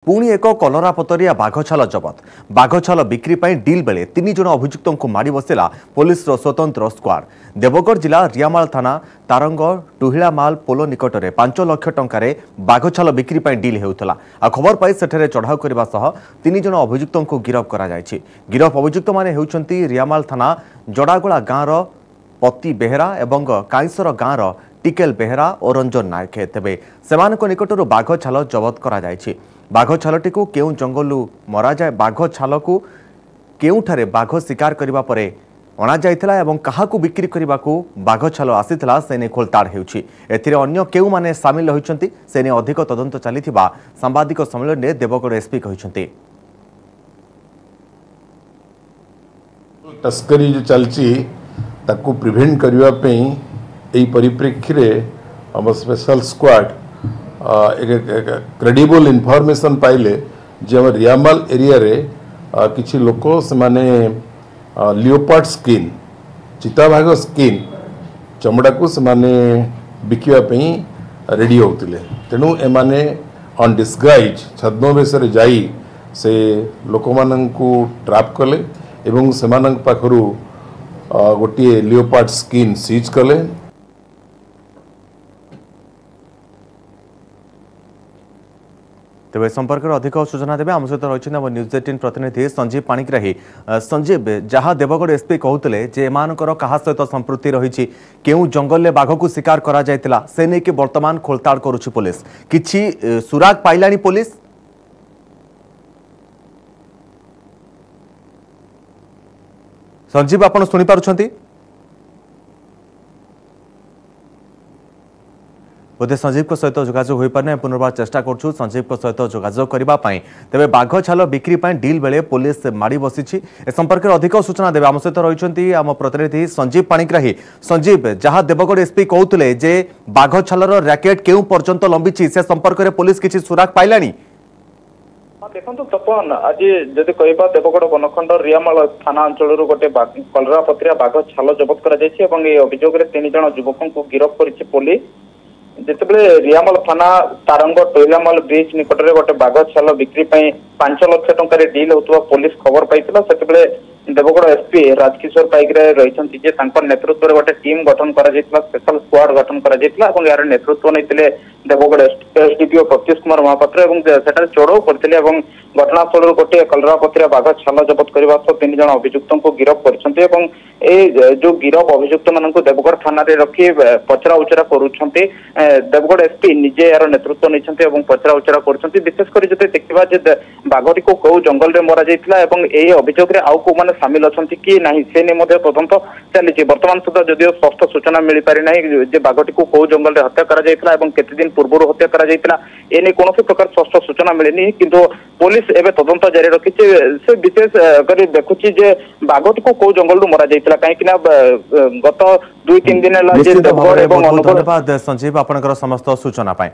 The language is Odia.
ପୁଣି ଏକ କଲରାପତରିଆ ବାଘଛାଲ ଜବତ। ବାଘଛାଲ ବିକ୍ରି ପାଇଁ ଡିଲ୍ ବେଳେ 3 ଜଣ ଅଭିଯୁକ୍ତଙ୍କୁ ମାଡ଼ି ବସିଲା ପୋଲିସର ସ୍ୱତନ୍ତ୍ର ସ୍କ୍ୱାଡ୍। ଦେବଗଡ଼ ଜିଲ୍ଲା ରିଆମାଳ ଥାନା ତାରଙ୍ଗ ଟୁହିଳାମାଲ ପୋଲ ନିକଟରେ 5 ଲକ୍ଷ ଟଙ୍କାରେ ବାଘଛାଲ ବିକ୍ରି ପାଇଁ ଡିଲ୍ ହେଉଥିଲା। ଆଉ ଖବର ପାଇ ସେଠାରେ ଚଢ଼ାଉ କରିବା ସହ 3 ଜଣ ଅଭିଯୁକ୍ତଙ୍କୁ ଗିରଫ କରାଯାଇଛି। ଗିରଫ ଅଭିଯୁକ୍ତମାନେ ହେଉଛନ୍ତି ରିଆମାଳ ଥାନା ଜଡ଼ାଗୋଳା ଗାଁର ପତି ବେହେରା ଏବଂ କାଇଁସର ଗାଁର ଟିକେଲ ବେହେରା ଓ ରଞ୍ଜନ ନାୟକ। ତେବେ ସେମାନଙ୍କ ନିକଟରୁ ବାଘ ଛାଲ ଜବତ କରାଯାଇଛି। ବାଘ ଛାଲଟିକୁ କେଉଁ ଜଙ୍ଗଲରୁ ମରାଯାଏ, ବାଘ ଛାଲକୁ କେଉଁଠାରେ ବାଘ ଶିକାର କରିବା ପରେ ଅଣାଯାଇଥିଲା ଏବଂ କାହାକୁ ବିକ୍ରି କରିବାକୁ ବାଘ ଛାଲ ଆସିଥିଲା ସେ ନେଇ ଖୋଳତାଡ଼ ହେଉଛି। ଏଥିରେ ଅନ୍ୟ କେଉଁମାନେ ସାମିଲ ରହିଛନ୍ତି ସେ ନେଇ ଅଧିକ ତଦନ୍ତ ଚାଲିଥିବା ସାମ୍ବାଦିକ ସମ୍ମିଳନୀରେ ଦେବଗଡ଼ ଏସ୍ପି କହିଛନ୍ତି। ତସ୍କରୀ ଯେଉଁ ଚାଲିଛି ତାକୁ ପ୍ରିଭେଣ୍ଟ କରିବା ପାଇଁ ଏହି ପରିପ୍ରେକ୍ଷୀରେ ଆମ ସ୍ପେଶାଲ ସ୍କ୍ୱାଡ୍ ଏକ କ୍ରେଡିବଲ୍ ଇନଫର୍ମେସନ୍ ପାଇଲେ ଯେ ଆମ ରିଆମାଲ ଏରିଆରେ କିଛି ଲୋକ ସେମାନେ ଲିଓପାର୍ଡ ସ୍କିନ୍, ଚିତାବାଘ ସ୍କିନ୍ ଚମଡ଼ାକୁ ସେମାନେ ବିକିବା ପାଇଁ ରେଡ଼ି ହେଉଥିଲେ। ତେଣୁ ଏମାନେ ଅନ୍ ଡିସଗାଇଜ୍ ଛଦ୍ମବେଶରେ ଯାଇ ସେ ଲୋକମାନଙ୍କୁ ଟ୍ରାପ୍ କଲେ ଏବଂ ସେମାନଙ୍କ ପାଖରୁ ଗୋଟିଏ ଲିଓପାର୍ଡ ସ୍କିନ୍ ସିଜ୍ କଲେ। ତେବେ ଏ ସମ୍ପର୍କରେ ଅଧିକ ସୂଚନା ଦେବେ ଆମ ସହିତ ରହିଛନ୍ତି ଆମ ନ୍ୟୁଜ୍ 18 ପ୍ରତିନିଧି ସଞ୍ଜୀବ ପାଣିଗ୍ରାହୀ। ସଞ୍ଜୀବ, ଯାହା ଦେବଗଡ଼ ଏସ୍ପି କହୁଥିଲେ ଯେ ଏମାନଙ୍କର କାହା ସହିତ ସମ୍ପୃକ୍ତି ରହିଛି, କେଉଁ ଜଙ୍ଗଲରେ ବାଘକୁ ଶିକାର କରାଯାଇଥିଲା ସେ ନେଇକି ବର୍ତ୍ତମାନ ଖୋଳତାଡ଼ କରୁଛି ପୋଲିସ। କିଛି ସୁରାଗ ପାଇଲାଣି ପୋଲିସ? ସଞ୍ଜୀବ, ଆପଣ ଶୁଣିପାରୁଛନ୍ତି? ବୋଧେ ସଞ୍ଜୀବଙ୍କ ସହିତ ଯୋଗାଯୋଗ ହୋଇପାରୁନି। ପୁନର୍ବାର ଚେଷ୍ଟା କରୁଛୁ ସଞ୍ଜୀବଙ୍କ ସହିତ ଯୋଗାଯୋଗ କରିବା ପାଇଁ। ତେବେ ବାଘ ଛାଲ ବିକ୍ରି ପାଇଁ ଡିଲ୍ ବେଳେ ପୋଲିସ ମାଡ଼ି ବସିଛି। ଏ ସମ୍ପର୍କରେ ଅଧିକ ସୂଚନା ଦେବେ ଆମ ସହିତ ରହିଛନ୍ତି ଆମ ପ୍ରତିନିଧି ସଞ୍ଜୀବ ପାଣିଗ୍ରାହୀ। ସଞ୍ଜୀବ, ଯାହା ଦେବଗଡ଼ ଏସ୍ପି କହୁଥିଲେ ଯେ ବାଘ ଛାଲର ର୍ୟାକେଟ୍ କେଉଁ ପର୍ଯ୍ୟନ୍ତ ଲମ୍ବିଛି ସେ ସମ୍ପର୍କରେ ପୋଲିସ କିଛି ସୁରାଗ ପାଇଲାଣି? ଦେଖନ୍ତୁ ତପନ, ଆଜି ଯଦି କହିବା ଦେବଗଡ଼ ବନଖଣ୍ଡ ରିଆମାଳ ଥାନା ଅଞ୍ଚଳରୁ ଗୋଟେ କଲରାପତ୍ରିଆ ବାଘ ଛାଲ ଜବତ କରାଯାଇଛି ଏବଂ ଏହି ଅଭିଯୋଗରେ 3 ଜଣ ଯୁବକଙ୍କୁ ଗିରଫ କରିଛି ପୋଲିସ। ଯେତେବେଳେ ରିଆମାଲ ଥାନା ତାରଙ୍ଗ ଟୋଇଲାମାଲ ବ୍ରିଜ ନିକଟରେ ଗୋଟେ ବାଘ ଛାଲ ବିକ୍ରି ପାଇଁ 5 ଲକ୍ଷ ଟଙ୍କାରେ ଡିଲ୍ ହେଉଥିବା ପୋଲିସ ଖବର ପାଇଥିଲା, ସେତେବେଳେ ଦେବଗଡ଼ ଏସ୍ପି ରାଜକିଶୋର ପାଇକରାୟ ରହିଛନ୍ତି ଯେ ତାଙ୍କ ନେତୃତ୍ୱରେ ଗୋଟେ ଟିମ୍ ଗଠନ କରାଯାଇଥିଲା, ସ୍ପେଶାଲ ସ୍କ୍ୱାଡ୍ ଗଠନ କରାଯାଇଥିଲା ଏବଂ ଏହାର ନେତୃତ୍ୱ ନେଇଥିଲେ ଦେବଗଡ଼ ଏସଡିପିଓ ପ୍ରତ୍ୟୁଷ କୁମାର ମହାପାତ୍ର ଏବଂ ସେଠାରେ ଚଢ଼ଉ କରିଥିଲେ ଏବଂ ଘଟଣାସ୍ଥଳରୁ ଗୋଟିଏ କଲରାପତ୍ରିଆ ବାଘ ଛାଲ ଜବତ କରିବା ସହ 3 ଜଣ ଅଭିଯୁକ୍ତଙ୍କୁ ଗିରଫ କରିଛନ୍ତି ଏବଂ ଏଇ ଯୋଉ ଗିରଫ ଅଭିଯୁକ୍ତ ମାନଙ୍କୁ ଦେବଗଡ଼ ଥାନାରେ ରଖି ପଚରା ଉଚରା କରୁଛନ୍ତି। ଦେବଗଡ଼ ଏସ୍ପି ନିଜେ ଏହାର ନେତୃତ୍ୱ ନେଇଛନ୍ତି ଏବଂ ପଚରା ଉଚରା କରୁଛନ୍ତି। ବିଶେଷ କରି ଯଦି ଦେଖିବା ଯେ ବାଘଟିକୁ କୋଉ ଜଙ୍ଗଲରେ ମରାଯାଇଥିଲା ଏବଂ ଏହି ଅଭିଯୋଗରେ ଆଉ କୋଉମାନେ ସାମିଲ ଅଛନ୍ତି କି ନାହିଁ ସେ ନେଇ ମଧ୍ୟ ତଦନ୍ତ ଚାଲିଛି। ବର୍ତ୍ତମାନ ସୁଦ୍ଧା ଯଦିଓ ସ୍ପଷ୍ଟ ସୂଚନା ମିଳିପାରି ନାହିଁ ଯେ ବାଘଟିକୁ କୋଉ ଜଙ୍ଗଲରେ ହତ୍ୟା କରାଯାଇଥିଲା ଏବଂ କେତେ ଦିନ ପୂର୍ବରୁ ହତ୍ୟା କରାଯାଇଥିଲା, ଏ ନେଇ କୌଣସି ପ୍ରକାର ସ୍ପଷ୍ଟ ସୂଚନା ମିଳିନି। କିନ୍ତୁ ପୋଲିସ ଏବେ ତଦନ୍ତ ଜାରି ରଖିଛି। ସେ ବିଶେଷ କରି ଦେଖୁଛି ଯେ ବାଘଟିକୁ କୋଉ ଜଙ୍ଗଲରୁ ମରାଯାଇଥିଲା, କାହିଁକି ନା ଗତ 2-3 ଦିନ ହେଲା ଯେ ଦେବଗଡ଼ ଏବଂ ଅନୁଗୋଳ। ଧନ୍ୟବାଦ ସଞ୍ଜୀବ ଆପଣଙ୍କର ସମସ୍ତ ସୂଚନା ପାଇଁ।